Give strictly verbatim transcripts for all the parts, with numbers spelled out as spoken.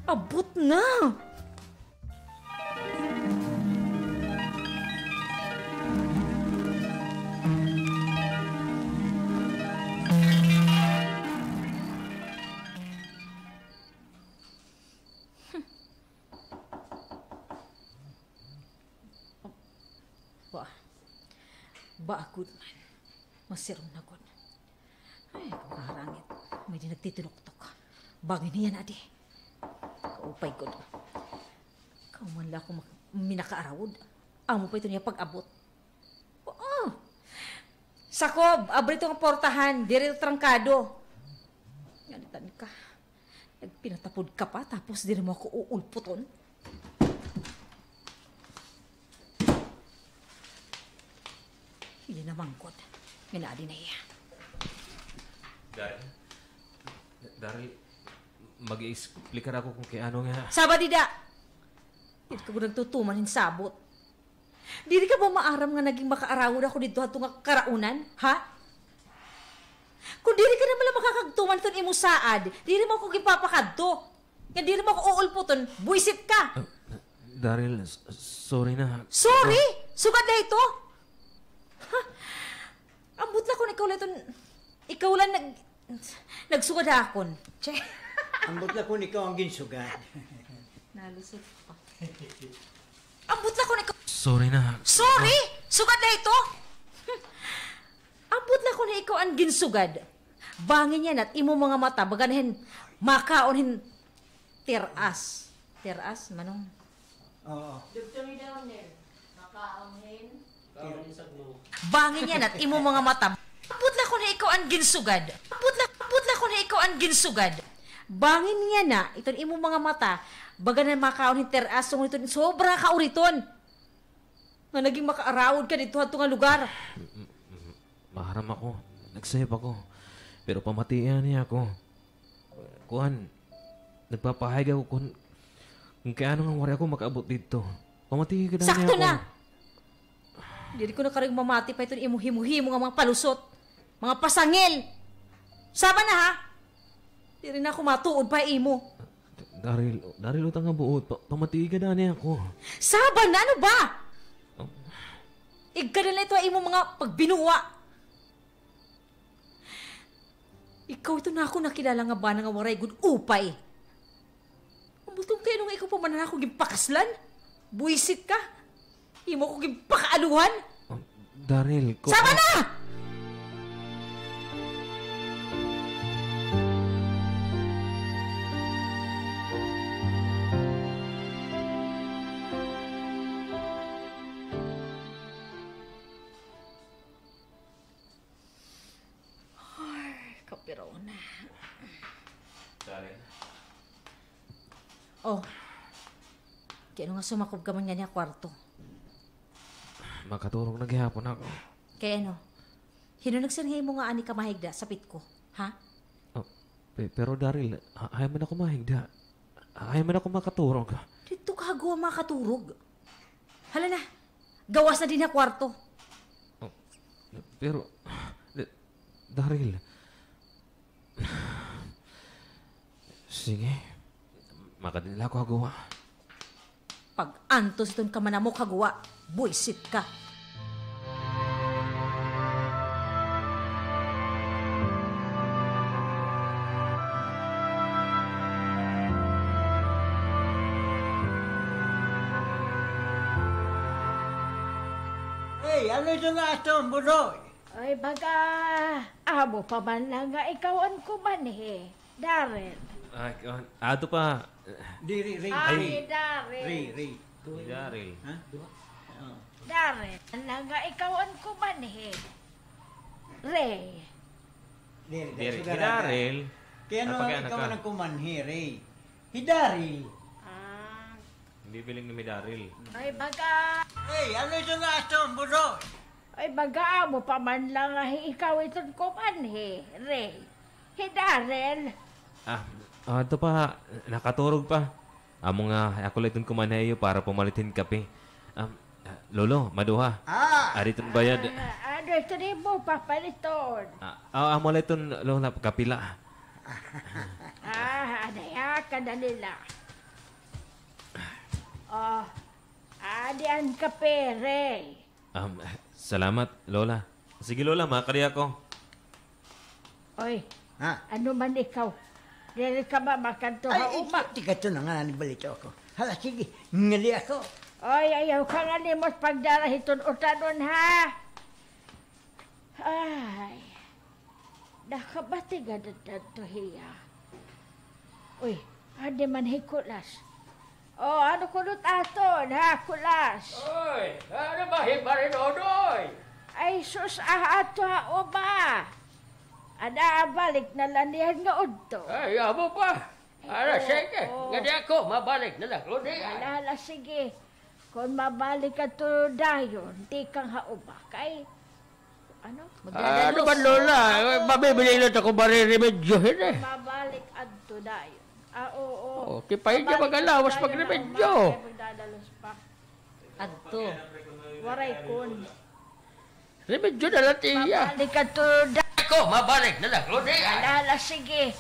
Abot na! Ba, ba gud man. Masirom na gud. Ay, kaharangit. May-ada nagtitinuktok. Bangin hiya na adi. Kaupay gud. Ikaw man la ako mak-, minakaarawod. Amo pa iton iya pag-abot. Oo. Sakob, abri iton nga portahan. Diri ito trangkado. Nganitan ka. Nagpinatapod ka pa, tapos diri mo ako uulputon. Hiya na man gud. Ngan adi na hiya. Daryl, Daryl, mag-iexplikar ako kon kay ano nga. Saba dida! Diri ka gud nagtutuman hin sabot. Diri ka ba maaram nga naging makaarawod ako didto hadto nga karaunan, ha? Kon diri ka na man la makakagtuman hiton imo saad, diri mo ako ginpapakadto. Nga diri mo ako uulputon, buwisit ka. Ah, Daryl, s-, sorry na. Sorry? Sugad la ito? Ha? Ambot la kon ikaw la iton, ikaw la nag-, nagsugad ha akon. Che. Ambot la kon ikaw an ginsugad. Nalusot pa. Ambot la kon ikaw. Sorry na. Sorry? Sugad la ito? Ambot la kon ikaw an ginsugad. Bangin yana it imo mga mata, baga na hin makaon hin teras. Teras, manong. Oo. Doktor ni Downer, makaon hin. Bangin yana it imo mga mata. Ambot la kon ikaw an ginsugad. Ambot la, ambot la kon ikaw an ginsugad. Bangin yana iton imo mga mata, baga na makaon hin teras, tungod hiton sobra ka uriton. Nga naging makaarawod ka didto hadto nga lugar. M-, m-, m-, maaram ako. Nagsayop ako. Pero pamatii niya ako. Kuan, nagpapahayag ako kon, kon kay ano nga waray ako makaabot didto. Pamatii ka daw niya ako. Sakto na! Diri ko na kari mamati pa iton imo himo-himo nga mga palusot. Mga pasangil! Saba na, ha? Diri na ako matuod pa ha imo. Daryl, Daryl, uta nga buot. Pa-, pamatii ka daw niya ako. Saba na, ano ba? Oh. Igkadal na ito ha imo mga pagbinuwa. Ikaw ito na ako nakilala nga bana nga waray gud upay. Ambot kon kay ano nga ikaw pa man an ako ginpakaslan? Buwisit ka. Imo ko ginpakaaluhan. Oh, Daryl, ko- Saba na! Ay, kapirona. Daryl. Oh. Kay ano nga sumakob ka man nganhi ha kwarto? Makaturog na gihapon ako. Kay ano? Hin-o nagsiring ha imo nga anhi ka mahigda sa pitko? Ha? Oh, pe-, pero Daryl, ha-, hain man ako mahigda? Hain man ako makaturog? Didto ka ha guwa makaturog. Hala na. Gawas na dinhi ha kwarto. Oh, pero, Da-, Daryl. Sige. Makadto na la ako ha guwa. Pag-antos iton kamanamok ha guwa, buwisit ka. Hey, ano ito nga aton, Budoy? Ay, baga, amo pa man la nga ikaw an kumanhi, Daryl. Ah, ah, ato pa. Diri, Ray. Ay, Ray. Daryl. Ray, Ray. Daryl. Ha? Duha? Oo. Daryl, an la nga ikaw an kumanhi. Ray. Diri, diri, sugad hi Daryl. Kay ano ikaw an kumanhi, Ray? Hi Daryl. Ah. Hindi biling ni Daryl. Ay, baga. Hey, ano ito nga aton, Budoy? Ay, baga amo pa man la nga hi ikaw iton kumanhi, Ray. Hi Daryl. Ah, ah, ato pa, nakaturog pa. Amo nga, ako la iton kumanhi ha iyo para pamalit hin kape. Ah, Lolo, maduha. Ah. Ari iton bayad. Ah, ano iton imo papaliton? Ah, ah, amo la iton, Lola, kapila. Ah, ano ya, kadali la. Oh, adi an kape, Rey. Um, salamat, Lola. Sige, Lola, makadi ako. Oy, ha? Ano man ikaw? Diri ka ba makadto ha uma? Ay, tikadto na nga, nanibalita ako. Hala, sige, ngali ako. Oy, ayaw ka nga limot pagdara hiton utanon, ha? Ay, nakabati gad adto hiya. Uy, adi man hi Kulas. O, ano kuno it aton, ha, Kulas? Oy, ano ba hi Mare Nonoy? Ay, sus, ah, ato ha uma. Ada, balik na la niyan nga udto. Ay, amo pa. Ala, sige. Oo. Ngadi ako, mabalik na la ko diay. Ala, ala, sige. Kon mabalik adto dayon, tikang ha uma, kay, ano? Ano ba, Lola? Mabibili na ako, mareremedyo, eh. Mabalik adto dayon. Ah, oo. Oh, kay pahiya mag-alawas, magremedyo. Kay magdadalos pa. Adto. Waray kon. Remedyo na la, tiya. Mabalik adto da- Ako, mabalik na la ko diay. Ala, ala, sige.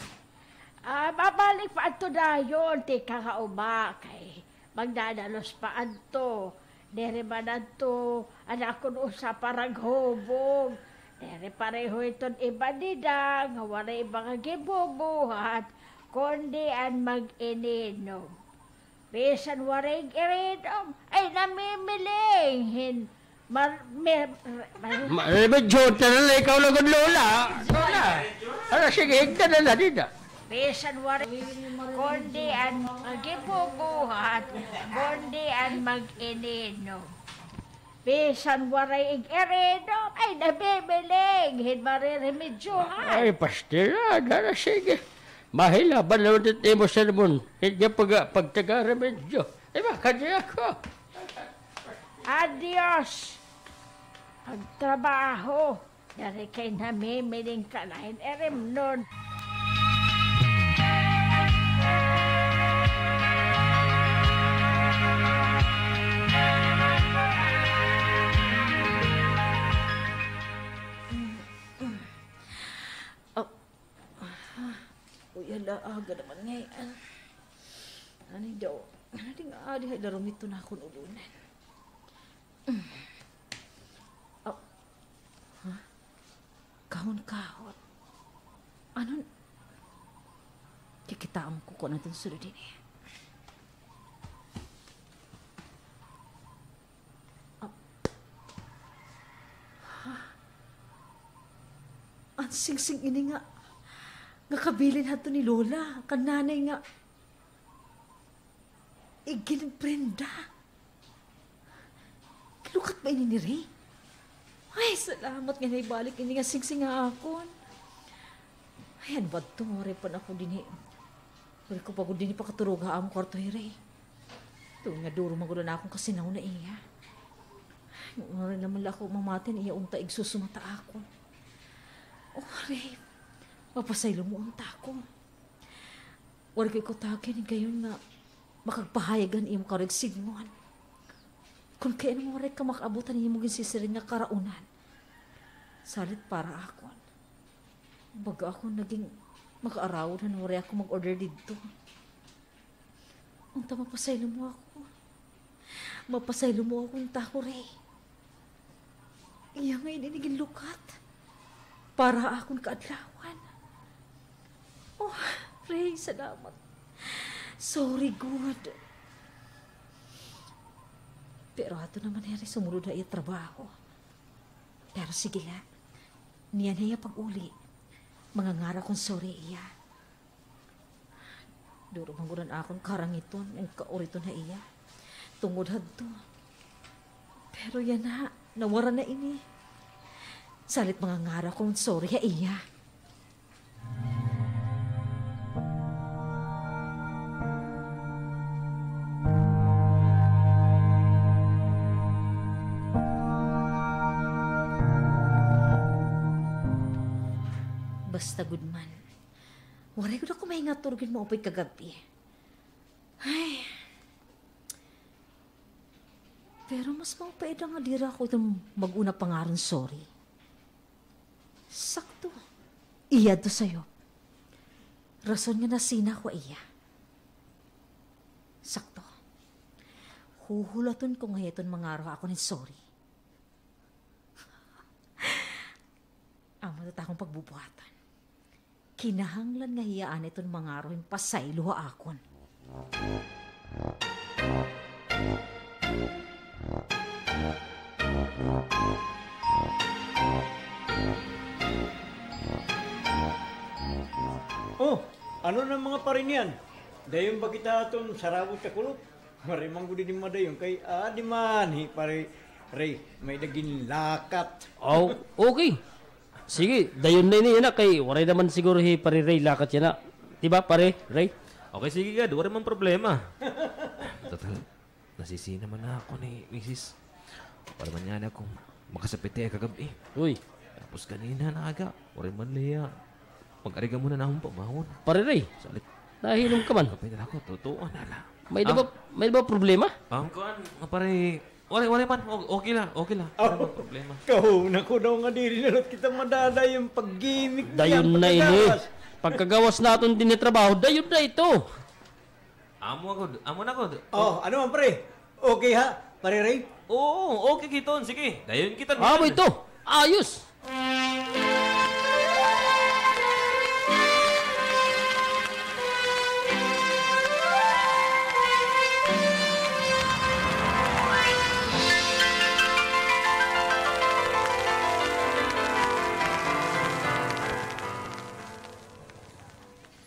Ah, mabalik pa adto dayon, tikang ha uma, kay magdadalos pa adto. Diri man adto an akon usa paraghubog. Diri pareho hiton iba dida nga waray iba nga ginbubuhat, kundi an mag-ininom. Bisan waray ig-irinom, ay namimiling hin mar-, mer-, mar-, ma-, remedyo, ta na la, ikaw la gud, Lola. Lola. Ala, sige, higda na la dida. Bisan waray, kundi an ginbubuhat, kundi an mag-ininom. Bisan waray ig-irinom, ay namimiling hin mareremedyohan. Ay, pastila, dara, sige. Mahilaban naman it imo sermon. Higda pag-, pagtaga-remedyo. Ay, makadi ako. Adios. Pagtrabaho. Diri kay namimiling ka na hin irimnon. Oh. Uy, hala, aga naman ngay-an. Ano daw? Ano di nga, adi hay larom ito na akon ulunan. Oh. Ha? Kahon-kahon. Ano? Kikitaon ko kon ano iton sulod hini. Ah. Ha? An singsing ini nga, nga kabilin hadto ni Lola, kan nanay nga iginprenda. Lukat ba ini ni Ray? Ay, salamat nga naibalik ini nga singsing ha akon. Ay, ano ba ito? Waray pa na ako dinhi. Waray ko pa gud dinhi pakaturog ha amon kwarto hi Ray. Tuod nga duro man gud an akon kasinahon ha iya. Waray naman la ako mamati han iya unta igsusumat ha akon. Oh, Ray, mapasaylo mo unta ako. Waray ko ikaw tawag higayon nga makagpahayag han imo karuyag sidngon. Kon kay ano waray ka makaabot han imo ginsisiring nga karaunan. Salit para akon. Baga ako naging makaarawod han waray ako mag-order didto. Unta mapasaylo mo ako. Mapasaylo mo ako unta, Ray. Iya ngay-an ini ginlukat para ha akon kaadlawan. Oh, Ray, salamat. Sorry gud. Pero ato naman hini sumulod ha iya trabaho. Pero sige la. Niyan ha iya pag-uli, mangangaro kon sorry iya. Duro man gud an akon karangiton, an kauriton ha iya. Tungod hadto. Pero yana, nawara na ini. Salit mangangaro kon sorry ha iya. Basta gud man. Waray gud ako mahingaturog hin maupay kagab-i. Ay. Pero mas maupay ida nga diri ako iton mag-una pangaron sorry. Sakto. Iya adto sayo. Rason nga nasina ako ha iya. Sakto. Huhulaton ko nga hiya iton mangaro ha akon hin sorry. Amo ito it akon pagbubuhatan. Kinahanglan nga hiya anay iton mangaro hin pasaylo ha akon. Oh, ano na mga pare niyan? Dayon ba kita aton sarabot sa kulop? Waray man gud ini madayon kay, ah, di man hi Pare Ray, may-ada ginlakat. Aw, okay. Sige, dayon na ini yana kay waray naman siguro hi Pare Ray lakat yana. Di ba, Pare Ray? Okay, sige gad, waray man problema. Total, nasisi naman na ako ni misis. Waray man yana ako makasapit ha iya kagab-i. Uy. Tapos kanina na aga, waray man la hiya mag-ariga muna na akon pamahon. Pare Ray, salit. Nahihinom ka man. Kapit na ako, totoo na la. May-ada ba, may-ada ba problema? Ang kuan, nga pare, waray, waray man. O-, okay la, okay la. Waray man problema. Kahuna ko daw nga diri na la kita madadayon pag-gimik. Dayon na ini. Pagkagawas naton dinhi trabaho, dayon na ito. Amo gud, amo na gud. Oh, ano man, pre? Okay ha, Pare Ray? Oo, okay kiton. Sige, dayon kita. Amo ito. Ayos.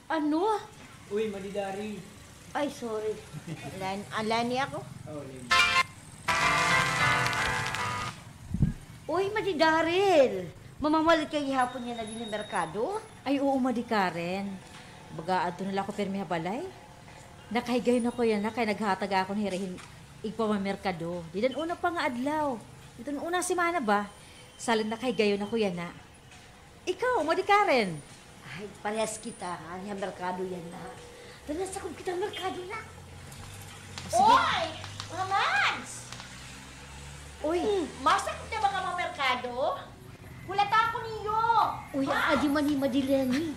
Ano? Uy, Madi Daryl. Ay, sorry. Lan-, ah, Lani ako. Oh, Lani. Uy, Madi Daryl. Mamamalit ka gihapon yana dinhi ha merkado? Ay, oo, Madi Karen. Baga adto na la ako pirmi ha balay. Nakahigayon ako yana kay naghatag ako ni Rehin igpamamerkado. Dida han una pa nga adlaw. Dida han unang semana ba? Salit nakahigayon ako yana. Ikaw, Madi Karen? Ay, parehas kita, ha? Dinhi ha merkado yana. Tana, sakob kita ha merkado na. Sige. Oy! Mga Mads! Uy! Hmm, masakob na ba kamo ha merkado? Hulata ako niyo! Uy, adi man hi Madi Leni.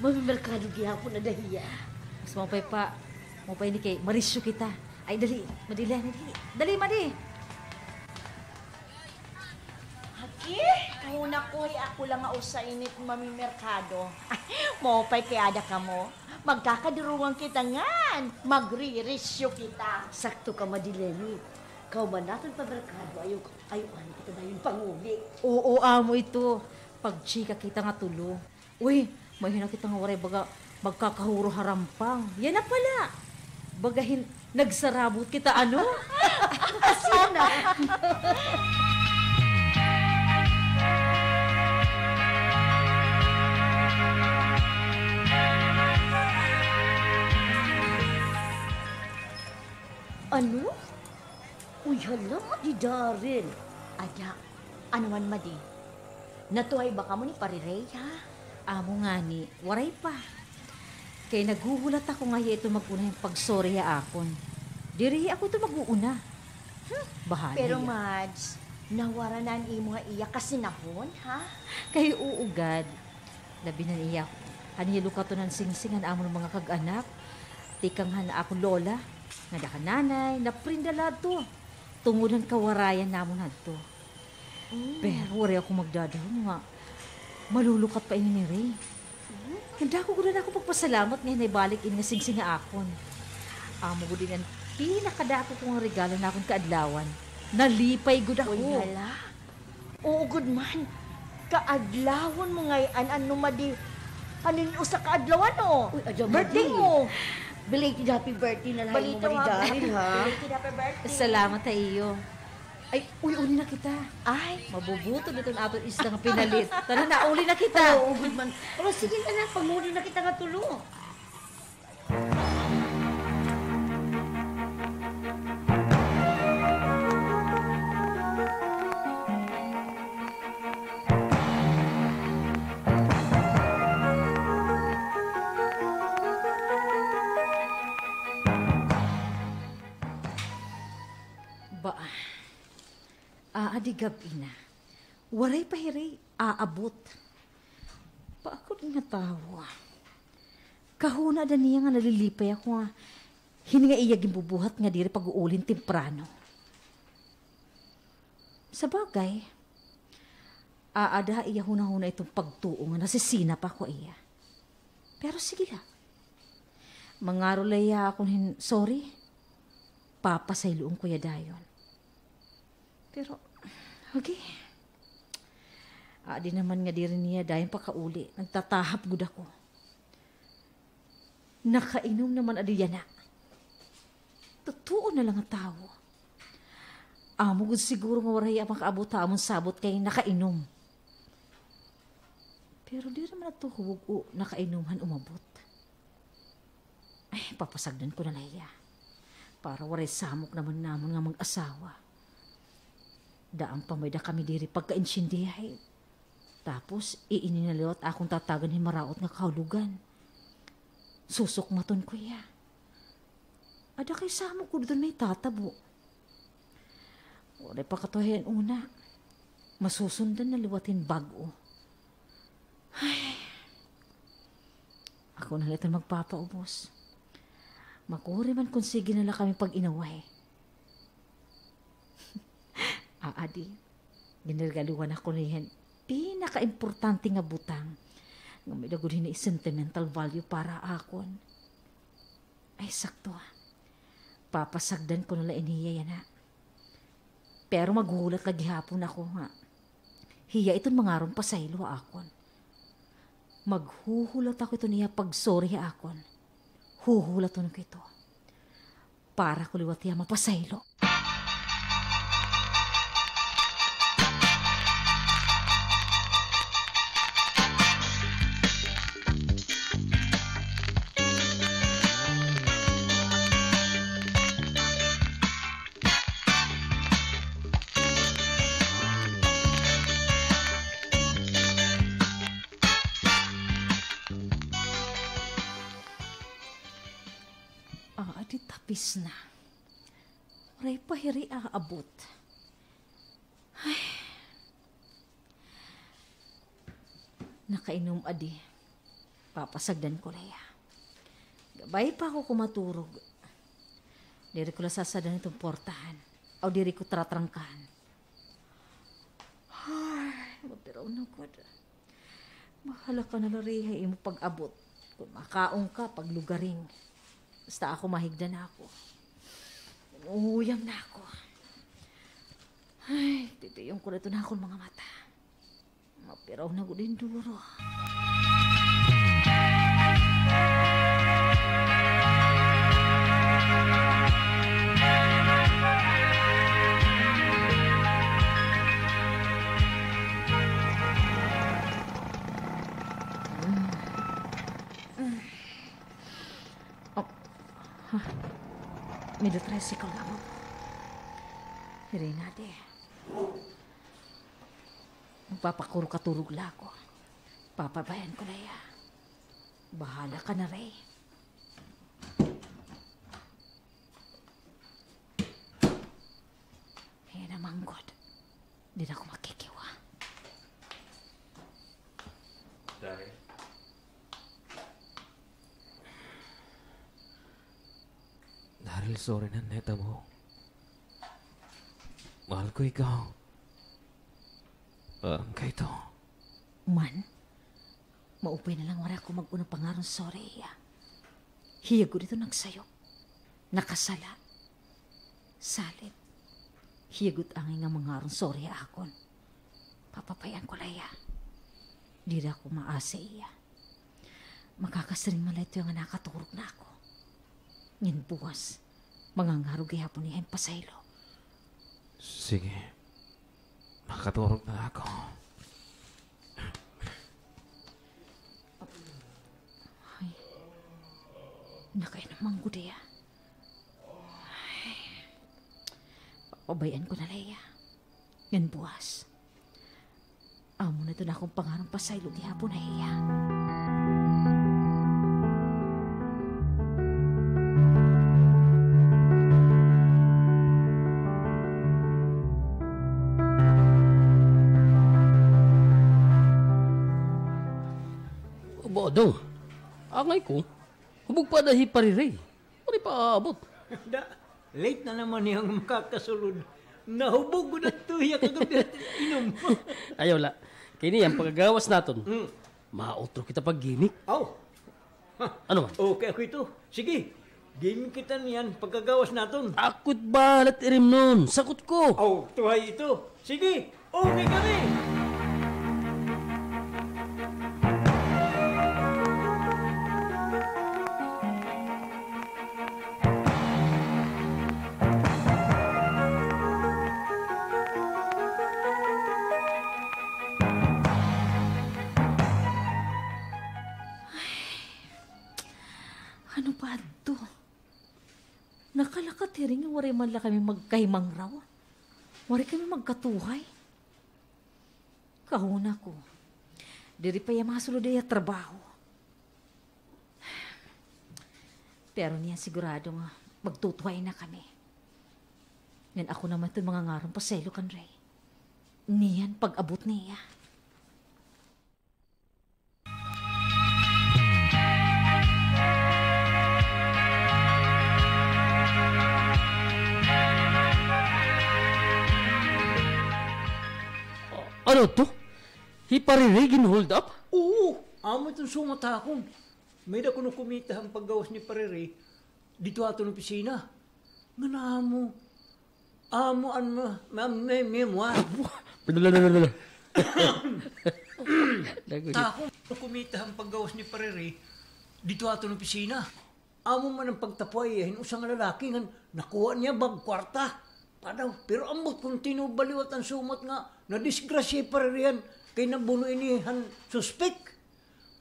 Mamimerkado gihapon ada hiya. Mas maupay pa. Maupay ini kay marisyo kita. Ay, dali, Madi Leni, dali. Dali, Madi. Aki, kahuna ko, ako la nga usa ini it mamimerkado. Maupay kay ada kamo. Magkakadurungan kita ngan magririsyo kita. Sakto ka, Madi Leni. Kahuman naton pamerkado, ayaw, ayaw anay kita dayon panguli. Oo, amo ito. Pagtsika kita nga tulo. Uy, may-ada kita nga waray baga magkakahuro ha rampang. Yana pala. Baga hin-, nagsarabot kita, ano? Asina. Ano? Uy, hala, Madi Daryl. Ada, ano man, Madi? Natuhay ba kamo ni Pare Ray, ha? Amo ngani, waray pa. Kay naghuhulat ako nga hiya ito mag-una hin pag-sorry ha akon. Diri ako ito mag-uuna. Hmm, bahala hiya. Pero, Mads, nawara na an imo nga iya kasinahon, ha? Kay oo gad. Labi na niya, han iya lukaton han singsing an amon mga kag-anak. Tikang han akon lola, ngada kan nanay, naprenda la adto. Tungod han kawarayan namon hadto. Mm. Pero waray ako magdadahom nga malulukat pa ini ni Ray. Mm. Dako gud an akon pagpasalamat nga naibalik ini nga singsing ha akon. Amo gud ini an pinakadako ko nga regalo han akon kaadlawan. Nalipay gud ako. Uy, hala. Oo gud man. Kaadlawon mo ngay-an, ano, Madi? Hain usa ka adlaw, ano? Uy, ada, Madi. Birthday mo. Belated happy birthday na la ha imo, Madi Daryl, ha? Belated happy birthday. Salamat ha iyo. Ay, uy, uli na kita. Ay. Mabubutol iton aton isda nga pinalit. Tara na, uli na kita. Oo gud man. Pero sige na na, panguli na kita nga tulo. Ba, aadi gab-i na. Waray pa hiri aabot. Paakot nga tawo. Kahuna ada niya nga nalilipay ako nga Hini nga iya ginbubuhat nga diri pag-uuli hin temprano. Sabagay, aada ha iya hunahuna iton pagtuo nga nasisinap ako ha iya. Pero sige la. Mangaro la hiya ha akon hin sorry. Papasayloon ko hiya dayon. Pero, okay. Adi naman nga diri niya dayon pakauli. Nagtatahap gud ako. Nakainom naman adi yana. Totoo na la nga tawo. Amo gud siguro nga waray hiya makaabot ha amon sabot kay nakainom. Pero diri man adto huwog o nakainom han umabot. Ay, papasagdan ko na la hiya. Para waray samok naman namon nga mag-asawa. Daan pa may-ada kami diri pagkaintindihay. Tapos, iini na liwat akon tatagan hin maraot nga kahulogan. Susukmaton ko hiya. Ada kay samok gud iton may tatabo. Waray pa katuhay an una. Masusundan na liwat hin bag-o. Ay. Ako na la iton magpapaubos. Makuri man kon sige na la kami pag-inaway. Aadi, ginregaluhan ako niya hin pinakaimportante nga butang nga may-ada gud hini sentimental value para ha akon. Ay, sakto. Papasagdan ko na la ini hiya yana. Pero maghuhulat la gihapon ako nga hiya iton mangaron pasaylo ha akon. Maghuhulat ako iton iya pag-sorry ha akon. Huhulaton ko ito. Para ko liwat hiya mapasaylo. Ah, di tapis na. Waray pa hiri aabot. Ay. Nakainom adi. Papasagdan ko la hiya. Gabay pa ako kumaturog. Diri ko la sasadan iton portahan. Aw, diri ko tratrangkahan. Ay, mapiraw na gud. Bahala ka na la, Rhea, ha imo pag-abot. Kon makaon ka, paglugaring. Basta ako, mahigda na ako. Nangunguyam na ako. Ay, titiyon ko la iton akon mga mata. Mapiraw na gud hin duro. Oh. Ha? May tricycle na ako. Hiri na, adi. Magpapakuro-katurog la ako. Papabayan ko la hiya. Bahala ka na, Ray. Hiya naman gud. Diri na ako makikiwa. Day. Daryl, sorry na nahitabo. Mahal ko ikaw. Parang kay ito. Man, maupay na la nga waray ako mag-unang pangaron sorry hiya. Hiya gud ito nagsayop. Nakasala. Salit. Hiya gud angay nga mangaron sorry ha akon. Papabay-an ko la hiya. Diri ako maasi ha iya. Makakasiring man la ito nga nakaturog na ako. Ngan buwas, mangangaro gihapon hiya hin pasaylo. Sige. Makaturog na ako. Ay. Nakainom man gud hiya. Ay. Papabay-an ko na la hiya. Ngan buwas, amo na ito an akon pangarong pasaylo gihapon ha iya. Aba, Dong. Angay ko. Hubog pa ada hi Pariray. Waray Paabot. Da, late na naman niya nga makakasulod. Nahubog gud adto hiya kagab-i hit inom. Ayaw la. Kay niyan, pagkagawas naton, mm, mautro kita pag-gimik. Aw. Ano man? Okay ako ito. Sige, gimik kita niyan pagkagawas naton. Ako it bahala hit irimnon. Sakot ko. Aw, tuhay ito. Sige, okay kami. Ano pa adto? Nakalakat hiri nga waray man la kami magkahimangraw. Waray kami magkatuhay. Kahuna ko, diri pa hiya masulod ha iya trabaho. Pero niyan sigurado nga magtutuhay na kami. Ngan ako naman iton mangangaron pasaylo kan Rey. Niyan pag-abot niya. Ano to? Hi Pare Rey gin-hold up? Oo, amo iton sumat ha akon. May-ada kuno kumita han paggawas ni Pare Rey didto ha aton opisina. Ngan amo, amo an ma-, ma-, me-, memoir. Dagos. Takon, kumita han paggawas ni Pare Rey didto ha aton opisina. Amo man an pagtapuay hin usa nga lalaki ngan nakuha niya bag kwarta. Padaw, pero ambot kon tinuod ba liwat an sumat nga nadisgrasya hi Pare Rey han kay nabuno ini han suspek.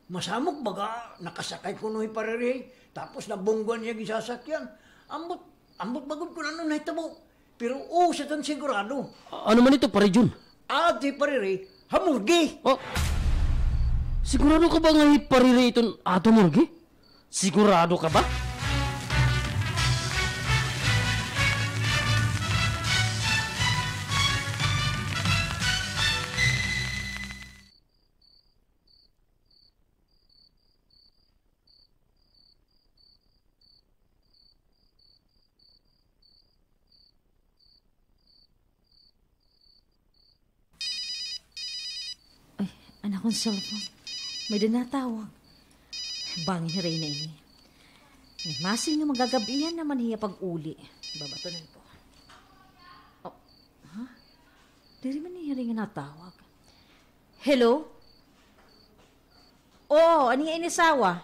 Masamok baga nakasakay kuno hi Pare Rey, tapos nabunggoan niya ginsasakyan. Ambot, ambot ba gud kon ano nahitabo. Pero usa tan sigurado. A-, ano man ito, Pare Jun? Aadi hi Pare Rey ha morgue. Oh. Sigurado ka ba nga hi Pare Rey iton aadi ha morgue? Sigurado ka ba? Ay, an akon cellphone. May-ada natawag. Bangin hi Reyna ini. Ay, masing nga magagab-ihan naman hiya pag-uli. Babatonan ko. Oh, ha? Diri man ni Reyna natawag. Hello? Oo, an iya ini asawa.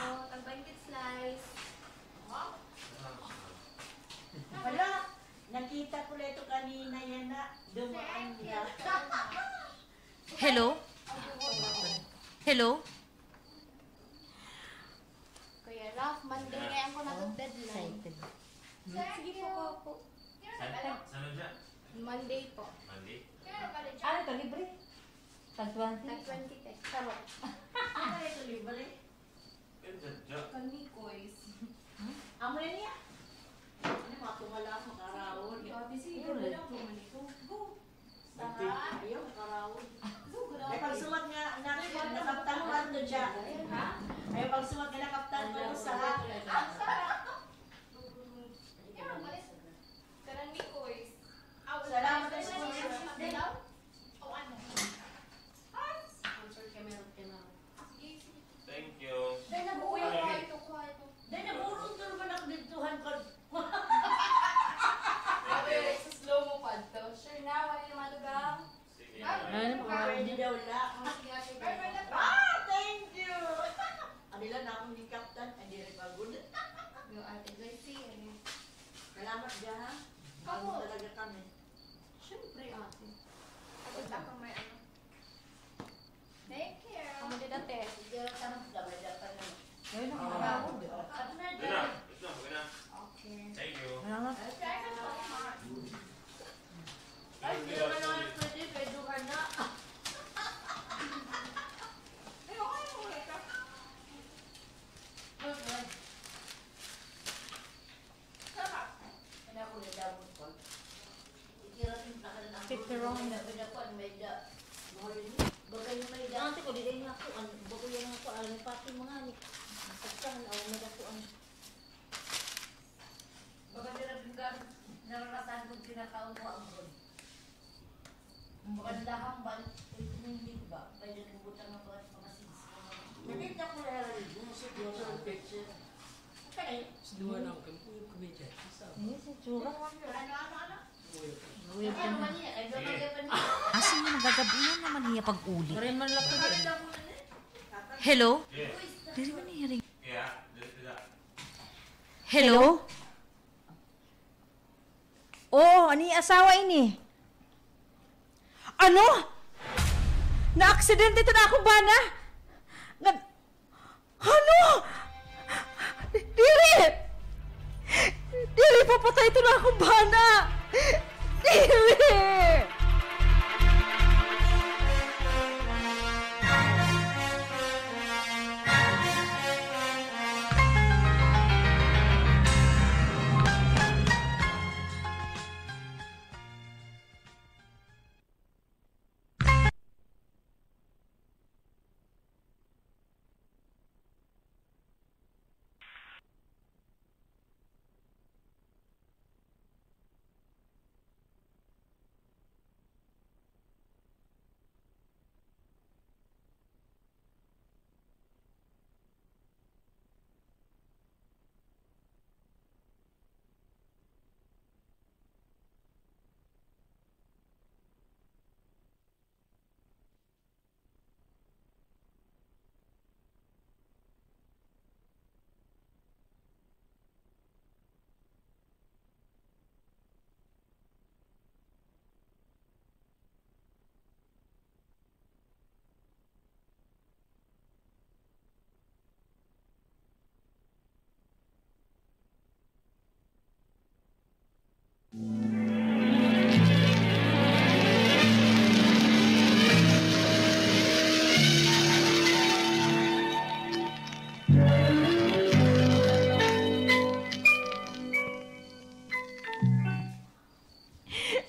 Oo, tag-baynte slice. Hala, nakita ko la ito kanina yana. Dumaan la. Hello? Hello? Kuya Ralph, Monday ngay-an ko na deadline. Sige po, po. San-, san-o dyan? Monday po. Monday? Ano ito, libre? Tag twenty? Tag twenty, te. Charot. Ano ito, libre? Kan Mikoy's. Amo na niya. Ano, mga tumala, makarawon. Ate, sige, wala ko man ito. Go. Ayaw, makarawon. Ay, pagsuwat nga, na-, nakaptan ko, ano siya? Ha? Ay, pagsuwat nga, nakaptan ko, ano sa ha? Ang sarap. Kaya, malis. Kanan ni Koy. Salamat sa sponsor. O ano? Sponsor kay meron kay ma'am. Sige, sige. Thank you. Day, nag-uwi ko. Kuha ito, kuha ito. Day, nag-uwi ko naman ako dito, han, pag- Grabe, sa slow mo pa ito. Sure na, wala na madugang. Sige. Ah, ano pa? Pwede daw na. Oh, sige, ate. Ah, thank you. Ano lang na akong ni Captain, ay, diri pa good. Yo, Ate Joyce, ano? Salamat dyan, ha? Ako. Ano talaga kami? Siyempre, ate. Ako, ako may ano. Thank you. Amo dida, te. Sige, tanong ka ba, dapat na. Ayun, ang haraw. At na dyan. Ito na, ito na. Okay. Thank you. Salamat. Ay, di naman naman pwede, pwede ka na. Ay, okay, okay ka. Good, good. Sarap. Ano ako nadabot ko? Pepperoni. May da, may da, may da. Bagay na may da. Ate ko, di kayo nga ako, ano, bago yan nga ako, alam mo, pati mga ni, pagkahan, alam mo, may da ko, ano. Asa niya nagagabulan naman niya pag-uli? Hello? Diri man niya rin. Hello? Oo, an iya asawa ini. Ano? Naaksidente ito na akong bana? Nga, ano? Diri! Diri, papatay ito na akong bana! Diri!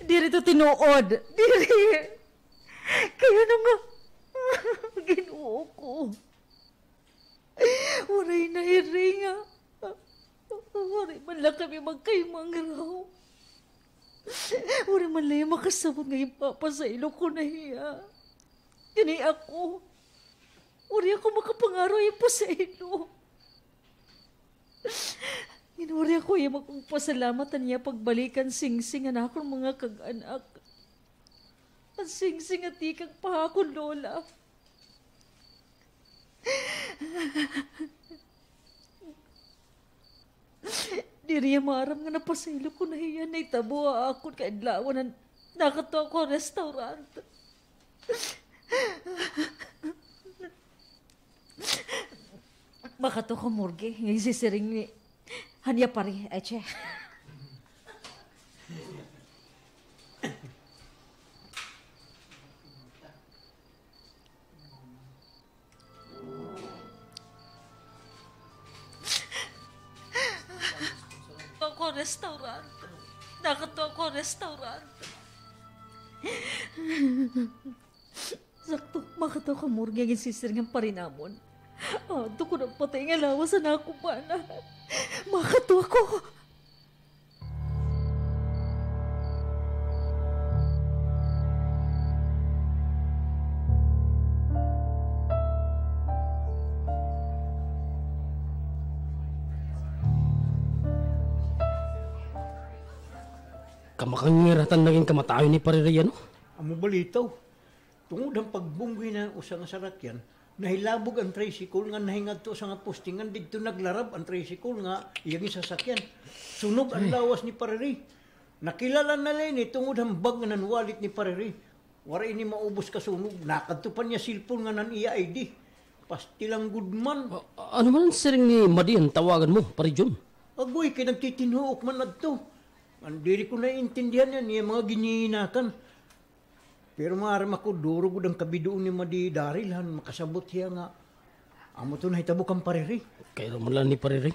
Diri to tinuod. Diri. Kay ano nga, Ginoo ko. Waray na hiringa. Waray man la kami magkahimangraw. Waray man la hiya makasabot nga ginpapasaylo ko na hiya. Kani ako. Waray ako makapangaro ipasaylo. Ngan waray ako hiya magpasalamat han iya pagbalik han singsing han akon mga kag-anak. An singsing nga tikang pa ha akon lola. Diri hiya maaram nga napasaylo ko na hiya han nahitabo ha akon kaadlawan nga nakadto ako ha restaurant. Makadto ako ha morgue, nga ginsiring ni han iya pari, Eche. Ako restaurant. Nakadto ako restaurant. Sakto, makadto ako ha morgue nga ginsiring han pari namon. Adto ko napatay nga lawas han akon bana. Makadto ako. Kamakangiratan nagin kamatayon ni Pare Ray, ano? Amo balitaw. Tungod han pagbunggoy han usa nga sarakyan, nahilabog an tricycle ngan nahingadto ha usa nga poste ngan didto naglarab an tricycle nga iya ginsasakyan. Sunog an lawas ni Pare Ray. Nakilala na la ini tungod han bag ngan han wallet ni Pare Ray. Waray ini maubos kasunog. Nakadto pa an iya cellphone ngan an iya I D. Pastilan gud man. A-, ano man an siring ni Madi nga tawagan mo, Pare Jun? Agoy, kay nagtitinhuok man adto. Ngan diri ko naiintindihan an iya mga ginhihinakan. Pero maaram ako, duro gud an kabidoon ni Madi Daryl han makasabot hiya nga amo ito nahitabo kan Pare Ray. Kay-ada man la ni Pare Ray.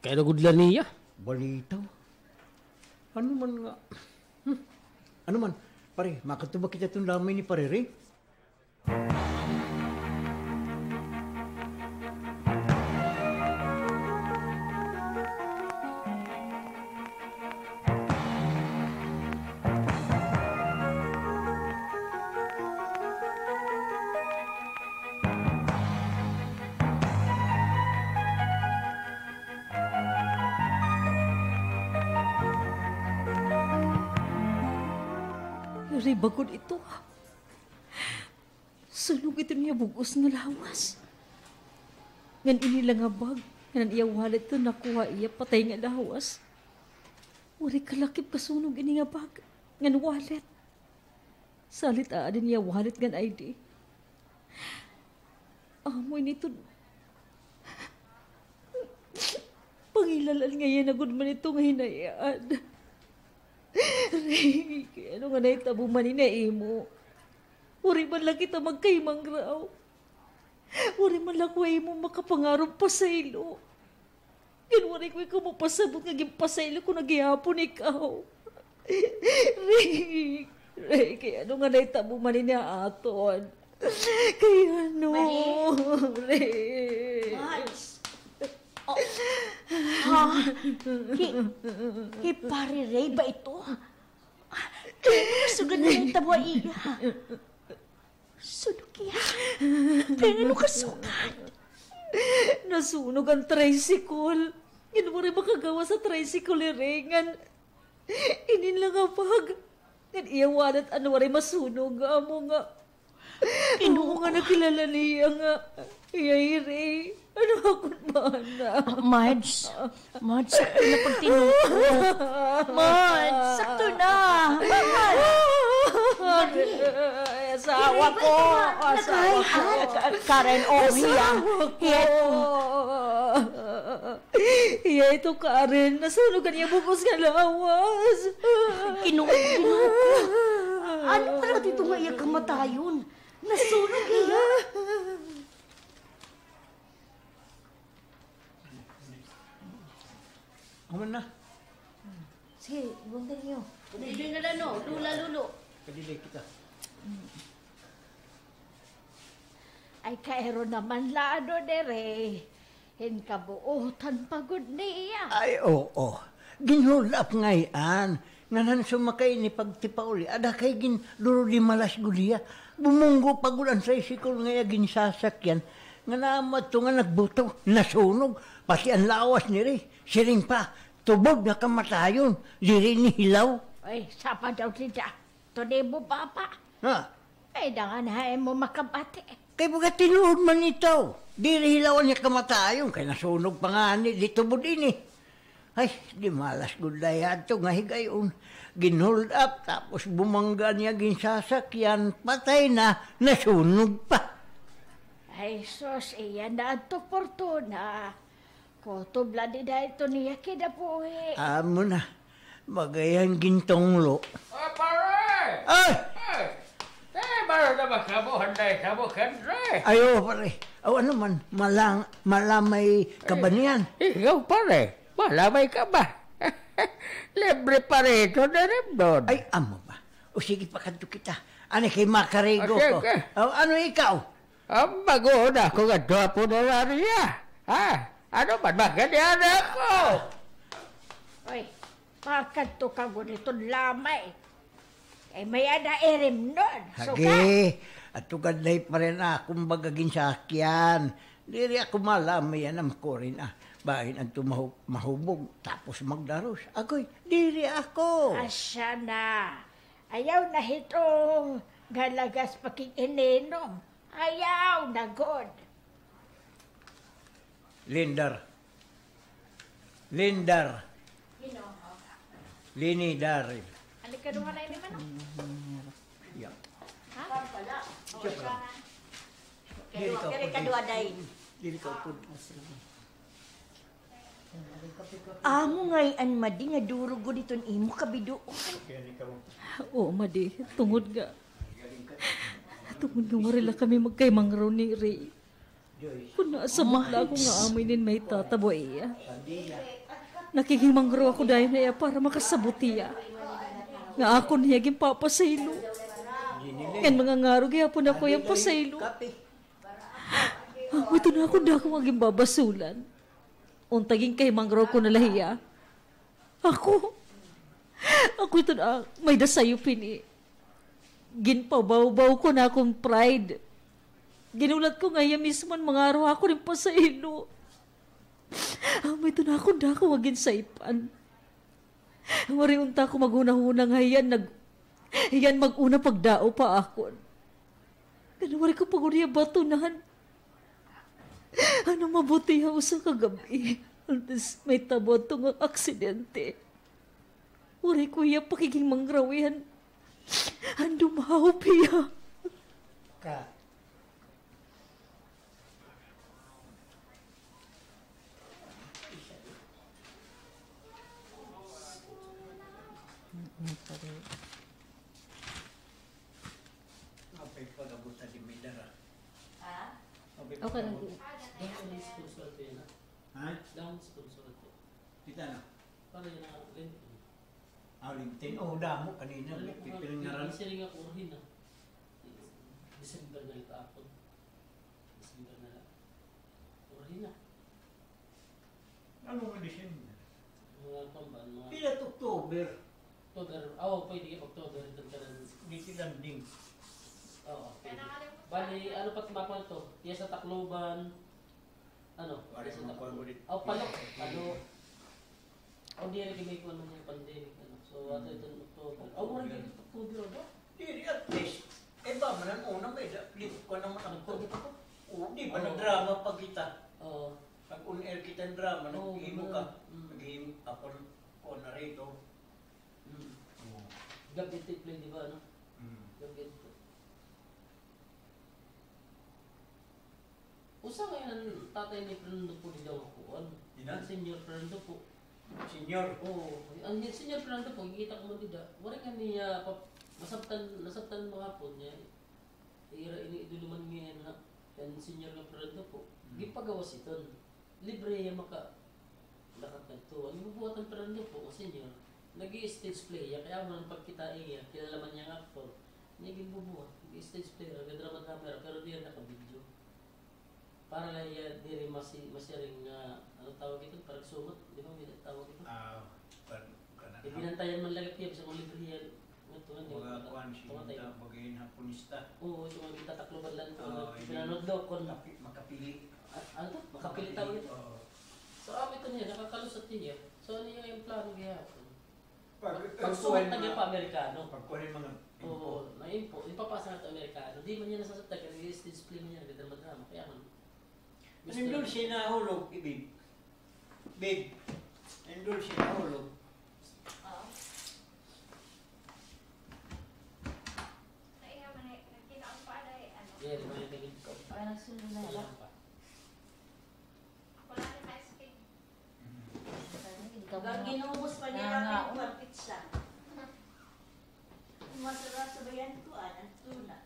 Kay-ada gud la niya. Balitaw. Ano man nga? Hmm. Ano man, pare, makadto ba kita hiton lamay ni Pare Ray? Ray ba gud ito? Sunog ito niya bug-os nga lawas. Ngan ini la nga bag, ngan an iya wallet ito nakuha iya patay nga lawas. Waray kalakip kasunog ini nga bag, ngan wallet. Salit aadi an iya wallet ngan I D. Amo ini ito. Pangilal-an nga iya na gud man ito nga hinay-an. Ray, kay ano nga nahitabo man ini ha imo? Waray man la kita magkahimangraw. Waray man la ako ha imo makapangarog pasaylo. Ngan waray ko ikaw mapasabot nga ginpasaylo ko na gihapon ikaw. Ray, Ray, kay ano nga nahitabo man ini ha aton? Kay ano, Marie? Ray. Mads. Oh. Ha? Hi, hi Pare Ray ba ito? Kay ano sugad nga nahitabo ha iya? Sunog hiya. Pero ano kasugad? Nasunog an tricycle. Ngan waray makagawas ha tricycle, Ray, ngan inin la nga bag. Ngan iya wallet an waray masunog. Amo nga, amo nga nakilala niya nga iya hi Ray. Ano akon bana? Ah, Mads. Mads, sakto na pagtinuod. Mads, sakto na. Mads. Ay, asawa ko. Asawa ko. Ka-, Karen, oh, hiya. Asawa ko. Hiya ito. Hiya ito, Karen. Nasunog an iya bug-os nga lawas. Ginoo, Ginoo ko. Ano pala ito nga iya kamatayon? Nasunog hiya. Human na. Sige, ibunta niyo. Pwede nga lang, no? Lula, lulo. Kadili kita. Ay, kairo naman la, ano, diri. Hin kabuutan pa gud niya. Ay, oo. Ginhulap ngay-an. Ngan han sumakay ini pagtipauli, ada kay gin-, duro di malas gud hiya. Bumunggo pa gud an tricycle nga iya ginsasakyan. Ngan amo adto nga nagbuto, nasunog, pati an lawas ni Ray. Siring pa, tubod nga kamatayon, diri ini hilaw. Ay, sapa daw dida. Tunay mo, Papa? Ha? Ay, dangan ha imo makabati. Kay baga tinuod man ito. Diri hilaw an iya kamatayon, kay nasunog pa ngani, di tubod ini. Ay, di malas gud la hiya adto nga higayon. Gin-hold up, tapos bumangga an iya ginsasakyan, patay na, nasunog pa. Ay, sus, iya na adto portuna. Kutob la dida ito niya kinabuhi. Amo na. Baga hiya an gintunglo. Ay, pare! Ay! Ay! Eh, baro na ba kamo, handay kamo, Andre? Ay, oo, pare. Aw, ano man, malang-, malamay ka ba niyan? Eh, ikaw, pare, malamay ka ba? Libre pa rito na rin doon. Ay, amo ba? O sige, pakadto kita. Ani kay makarigo ko. Okay, okay. Aw, ano ikaw? Ang bago na ako nga duha punerarya. Ha? Ano man, maganyan ako? Oy, pakadto ka gud iton lamay. Kay may-ada irimnon. Hagi, adto gad la hi pare an akon baga ginsakyan. Diri ako malamay yana, makurin, ah. Bahin adto mahu-, mahubog, tapos magdaros. Agoy, diri ako. Asya na. Ayaw na hiton nga lagas pakig-ininom. Ayaw na gud. Lindar. Lindar. Lini Daril. Ano ka duha na ini man? Yeah. Ha? Siya pa. Diri ka upod. Diri ka upod. Amo ngay-an, Madi, nga duro gud iton imo kabiduon. Oo, Madi, tungod nga, tungod nga waray la kami magkahimangraw ni Ray. Kon naasabot la ako nga amo ini an mahitatabo ha iya, nakikimangraw ako dayon ha iya para makasabot hiya nga akon hiya ginpapasaylo. Ngan mangangaro gihapon ako ha iya pasaylo. Amo ito an akon dako nga ginbabasulan. Unta ginkahimangraw ko na la hiya. Ako, ako ito na may-ada sayop hini. Ginpabawbaw ko an akon pride. Ginhulat ko nga hiya mismo an mangaro ha akon hin pasaylo. Amo ito an akon dako nga ginsaypan. Waray unta ako maghunahuna nga hiya an nag-, Hiya an mag-una pagdao pa akon. Ngan waray ko pa gud hiya batunan. Ano mabuti ha usa ka gab-i, antes mahitabo adto nga aksidente. Waray ko hiya pakighimangrawihan. An dumahop hiya. Ka. Apay pag-abot na di may dara. Ha? Apay pag-abot. Okay lang. Dahon sponsor ko yan, ha? Ha? Dahon sponsor ko. Kita na. Para yan ang LinkedIn. Ah, LinkedIn. Oh, damo kanina. Ano, pipil nga ran. Siring ako, urhin na. December na ito ako. December na lang. Urhin na. Ano nga December? Mga pamban, mga pila to October? October. Ah, oo, pwede ka October, ito ka lang. Dito landing. Oo, pwede. Bali, ano pa tumapal to? Iya sa Tacloban. Ano? Wala sa mga Tacloban. Oh, Palo. Palo. O, diri kay may kuwan man yung pandemic, ano. So, ato ito ng October. Oh, wala dito October, ano? Diri, at least. Eh, ba, man ang una, may da, lim-, kuwan naman ang October pa. Oo, di ba, nagdrama pa kita? Oo. Nag-on air kita ng drama, naghimo ka. Mm. Naghimo, ako, kuwan na rito. Mm. Oo. Gabi ito i-play, di ba, ano? Mm. Gabi ito. Usa nga an tatay ni Fernando Poe dida nga kuan. Dida? Senior Fernando Poe. Senior? Oo. An Senior Fernando Poe, gikita ko man dida. Waray nga niya pa-, masabtan, nasabtan mga hapon niya. Ira ini idolo man niya, ha. An Senior nga Fernando Poe. Hmm. Gipagawas iton. Libre hiya maka-, lakat ngadto. An gibubuhat han Fernando Poe, nga senior, nag-i-stage play hiya, kay amo na an pagkita hiya, kilala man hiya nga aktor. Niya ginbubuhat, nag-i-stage play hiya, nagadrama-drama hiya, pero diri naka-video. Para la hiya diri masi-, masiring nga, ano tawag ito, parang sumat, di ba, may tawag ito? Ah, kan-, kan-, eh, binantayan man la gihap hiya, bisan kon libre hiya. Mga kuan, siya, bagay na punista. Oo, ito nga gitatakloban la ito, pinanood ko. Makapi-, makapili. Ah, ano to? Makapili tawag ito? Oo. So, amo ito niya, nakakalusot niya. So, ano niya yung plano gihapon? Pag, pagsuwat na niya pa Amerikano. Pagkuha ng mga info. Oo, na info. Ipapasa na ito Amerikano. Di man niya nasasabtan, kaya nag-stage play man niya, nagdrama-drama. Kaya man, Mister Indulce, nahulog, Ibig. Big. Indulce, nahulog. Oo. Naiha man eh, nagkinaon pa, ano eh, ano. Yeah, di ba yung tingin ko? Ay, nagsundo na. Wala pa. Ako lang yung ice cream. Ginubos pa niya natin yung pizza. Masarap sa bayan ko, ah, ang tuna.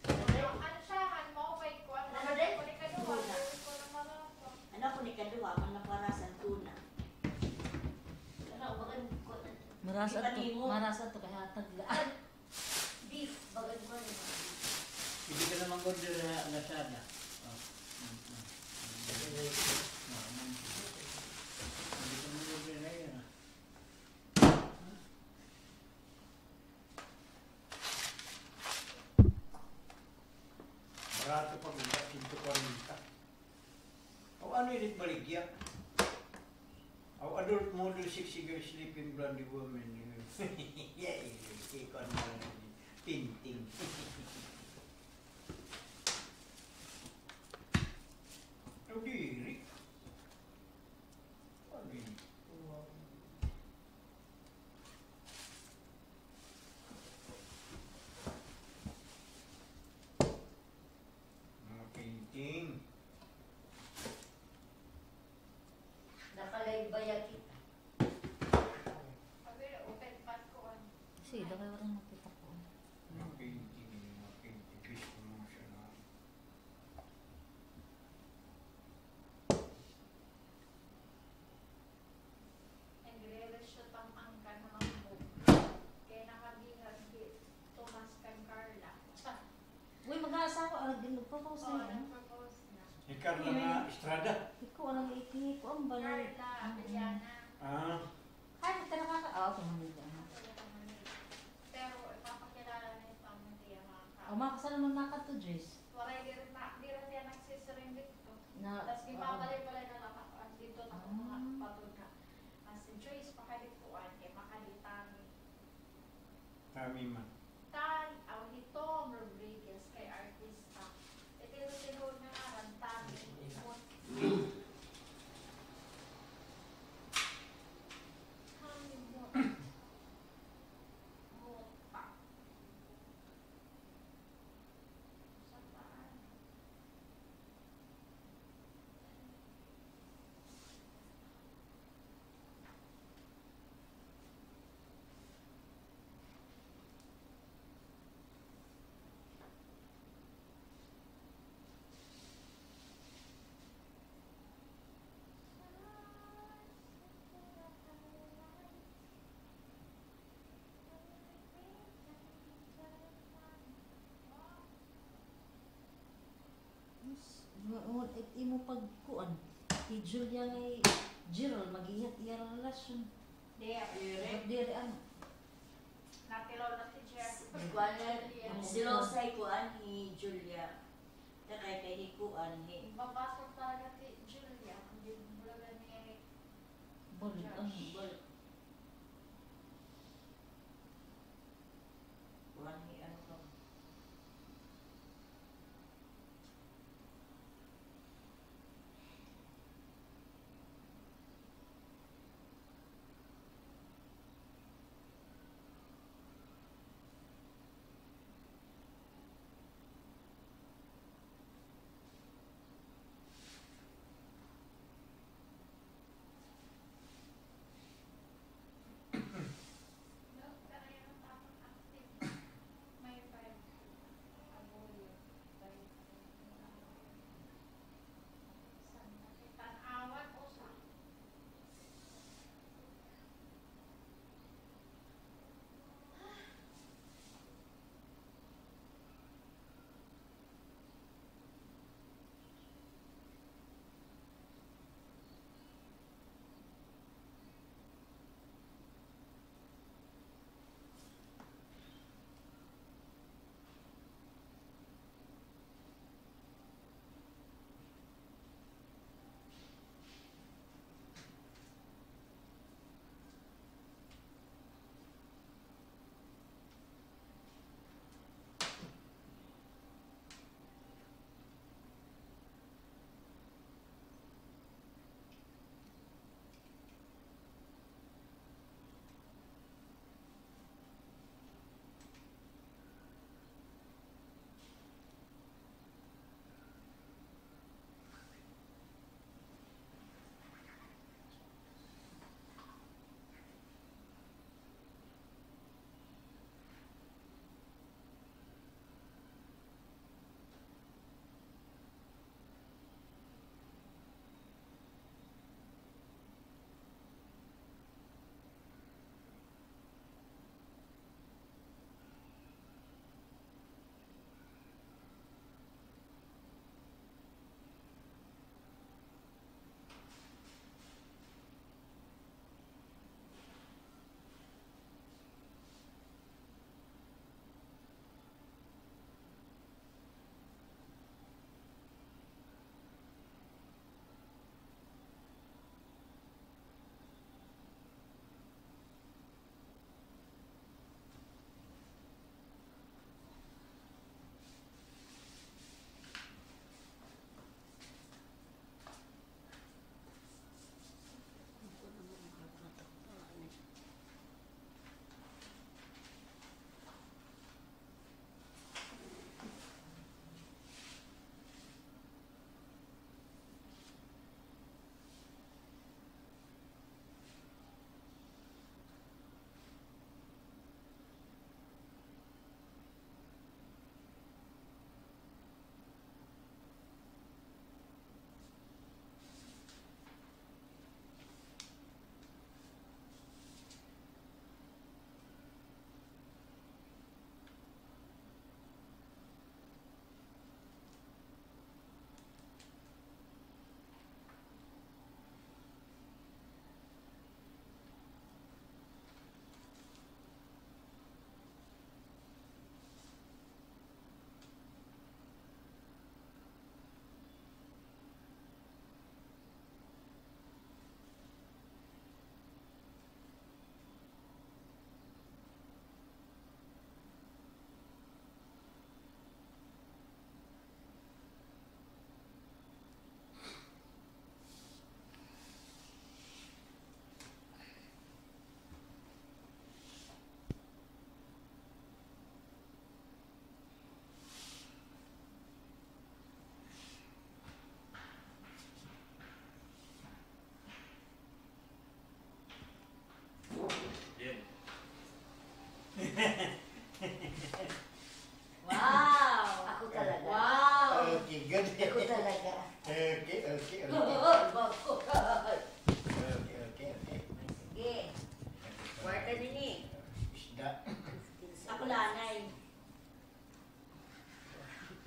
Ano siya, han mo, may kuwan na. Ano din? Kuwan ka duha, kuwan na marasa. Ano ko ni kaduha, man naparasan tuna. Ano, bagan ko na. Marasa to, marasa to, kay hatag la. Di, bagan ko na. Pwede ka naman order sa Lazada. Oh. Mm, mm. Pwede ka naman order na yun, ah. Barato pa gud, sento kwarenta. O, ano ini it baligya? O, adult model, sexy girl, sleeping blonde woman. Yay, ikaw na lang, painting. O, diri. Ano ini? Mga painting. Naka-live baya kita? Sige, dako kay waray makita ko. Mga painting, mga painting. Gusto mo siya na. Nagre-reshoot an angkan han Mambog. Kay nakabihag hi Tomas kan Carla. Uy, mag-aasawa, ah, nag-, nag-propose na. Oo, nag-propose na. Hi Carla nga Estrada. Ikaw, ano, iti, kuan ba na? Carla Abellana. Ah. Ay, ka nakaka-, ah, okay, Manila. Pero ipapakilala na yung family, mga ka-. O, makasal man na ka to, Jess. Waray, diri na, diri siya nagsisiring dito. Na, tas, oo, gipapalay-palay na lang ako, ah, dito na ako, ah, mga patod na. Mas Joyce, pakadikuan, kay makaditami. Kami man. Tan, aw, hi Tom Rodriguez kay artista. Ito yung tinuod nga ngaran, Tommy Mot. Tommy Mot. Mot pa. Sa paan? Yes. Mo, mo, it imo pagkuan. Hi Julia ngay Gerald, mag-ihat iya relasyon. Diri. Diri, ano. Natilaw na si Jeff. Kuan na, Julia. Silosay kuan hi Julia. Takay kay hi kuan, hi. Mabasag talaga si Julia. Hindi mo lang ni Bul-, Josh. Ano, bul-, kuan hi, ano to?